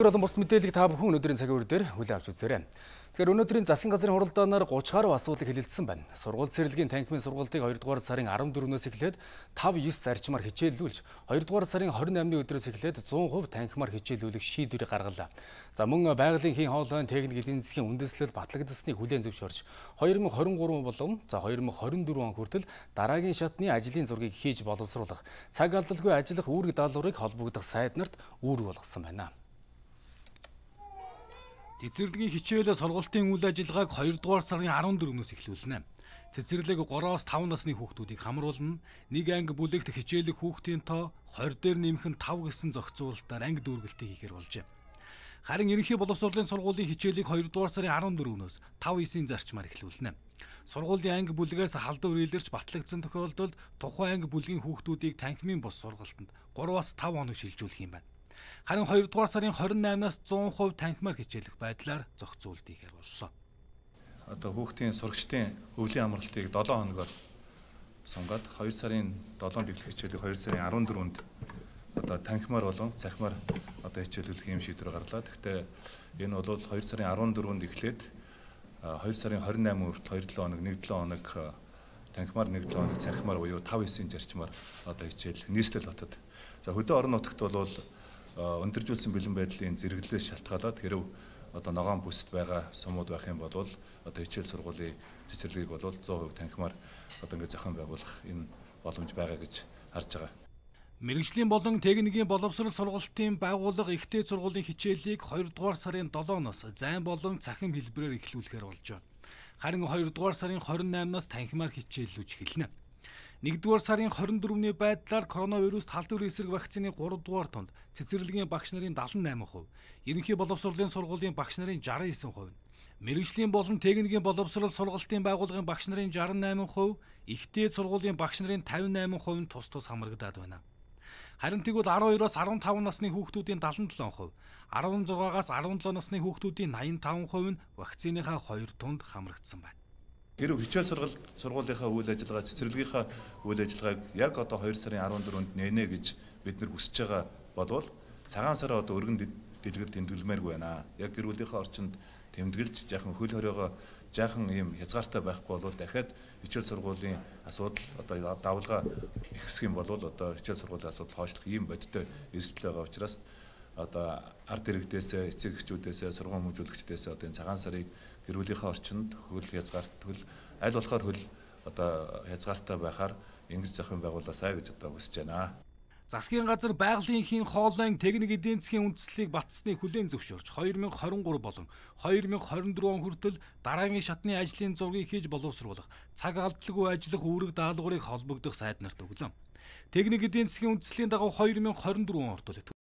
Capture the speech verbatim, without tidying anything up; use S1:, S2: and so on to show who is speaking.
S1: Болон бус мэдээллийг та бүхэн өнөөдрийн цагийн үр дээр хүлээн авч үзээрэй. Тэгэхээр өнөөдрийн засгийн газрын хуралдаанаар гуч гаруй асуудлыг хэлэлцсэн байна. Сургууль цэцэрлэгийн танхимын сургалтыг хоёрдугаар сарын арван дөрөвнөөс эхлээд тав ёс зарчмаар хичээллүүлж, хоёрдугаар сарын хорин наймны өдрөөс эхлээд зуун хувь танхимаар хичээллүүлэх шийдвэрийг гаргалаа. За мөн байгалийн хийн хоолойн техник эдийн засгийн үндэслэл батлагдасныг хүлээн зөвшөөрч, хоёр мың хорин гурав болон за хоёр мың хорин дөрөв он хүртэл дараагийн шатны ажлын зургийг хийж боловсруулах, цаг алдалгүй ажиллах үүрэг даалгаврыг холбогдох сайд нарт үүрэг болгосон байна. Цэцэрлэгийн хичээл сургалтын үйл ажиллагааг хоёрдугаар сарын арван дөрөвнөөс эхлүүлнэ. Цэцэрлэг гураваас таван насны хүүхдүүдийг хамруулна. Нэг анги бүлэгт хичээлэх хүүхдийн тоо хорь дээр нэмэх нь тав гэсэн зохицуулалтаар анги дүүргэлтийг хийхээр болжээ. Харин ерөнхий боловсролын сургуулийн хичээлийг хоёрдугаар сарын арван дөрөвнөөс тав эсийн зарчмаар эхлүүлнэ. Сургуулийн анги бүлгээс халдвар илэрч батлагдсан тохиолдолд тухайн анги бүлгийн хүүхдүүдийг танхимын бус сургалтанд гураваас тав хоног шилжүүлэх юм байна. Харин хоёрдугаар сарын хорин наймнаас зуун хувь танхимаар хичээлэх байдлаар зохицуулт хийхээр боллоо.
S2: Одоо хүүхдийн сурагчдын өвлийн амралтыг долоон хоногоор сунгаад хоёр сарын долоон дэглэх хичээлийг хоёр сарын арван дөрөвөнд одоо танхимаар болон цахимаар одоо хичээлүүлэх юм шийдвэр гарлаа. Гэхдээ энэ бол хоёр сарын арван дөрөвөнд эхлээд хоёр сарын хорин наймын хүртэл хоёр долоо хоног, нэг долоо хоног танхимаар, нэг долоо хоног цахимаар буюу тав эсийн зарчмаар одоо хичээлэх нийслэл хотод. За хөдөө орон нутагт бол өндөржүүлсэн бэлэн байдлын зэрэглэлээс шалтгаалаад хэрв одоо ногоон бүсд байгаа сумууд байх юм бол одоо хичээл сургуулийн цэцэрлэгийг бол зуун хувь танхимаар одоо ингээд зохион байгуулах энэ боломж байгаа гэж харж байгаа.
S1: Мэргэжлийн болон техникийн боловсрол сургалтын байгууллага ихтэй сургуулийн хичээлийг хоёрдугаар сарын долооноос зайн болон цахим хэлбэрээр эхлүүлэхээр болж байна. Харин хоёрдугаар сарын хорин наймнаас танхимаар хичээллүүлж эхэлнэ. нэгдүгээр сарын хорин дөрөвний байдлаар коронавируст халдвар эсрэг вакцины гуравдугаар тонд цэцэрлэгийн багш нарын дадлан найман хувь, ерөнхий боловсролын сургуулийн багш нарын жаран эсен хувь, мэргэжлийн болон техникийн боловсрол сургалтын байгууллагын багш нарын жаран найман хувь, ихтэй сургуулийн багш нарын тавин найман хувь тус тус хамрагдаад байна. Харин тэгвэл арван хоёроос арван таван насны хүүхдүүдийн дадлан долоон хувь, арван зургаагаас арван долоо насны хүүхдүүдийн найман таван хувь нь вакциныхаа хоёр тунд хамрагдсан байна.
S2: Хэрв хичээл сургалт сургуулийнхаа үйл ажиллагаа, цэцэрлэгийнхаа үйл ажиллагааг яг одоо хоёр сарын арван дөрөвөнд нэнэ гэж бид нар хүсэж байгаа болвол цагаан сараа одоо өргөн дэлгэр тэмдэглэмээргүй байна. Яг гэр бүлийнхаа орчинд тэмдэглэж жаахан хөл хориогоо жаахан ийм хязгаартай байхгүй бол дахиад хичээл сургуулийн асуудал одоо давлгаа ихсэх юм бол одоо хичээл сургуулийн асуудал хойшлох ийм бодиттой эрсдэл байгаа учраас одоо ард иргэдээсээ, эцэг эхчүүдээсээ, сургууль хүмүүжүүлэгчдээсээ одоо энэ цагаан сарыг гэр бүлийнхаа орчинд хөл хязгаарт хөл аль болохоор хөл одоо хязгаартай байхаар ингэж зохион байгуулаасаа гэж одоо хүсэж байна.
S1: Засгийн газар байгалийн хийн хоолойн техник эдийн засгийн үндэслэлийг батсныг хүлээн зөвшөөрч хоёр мың хорин гурав болон хоёр мың хорин дөрөв он хүртэл дараагийн шатны ажлын зургийг хийж боловсруулах, цаг алдалгүй ажиллах үүрэг даалгаврыг холбогдох сайд нарт өглөө. Техник эдийн засгийн үндэслэлийн дагуу хоёр мың хорин дөрөв он ордол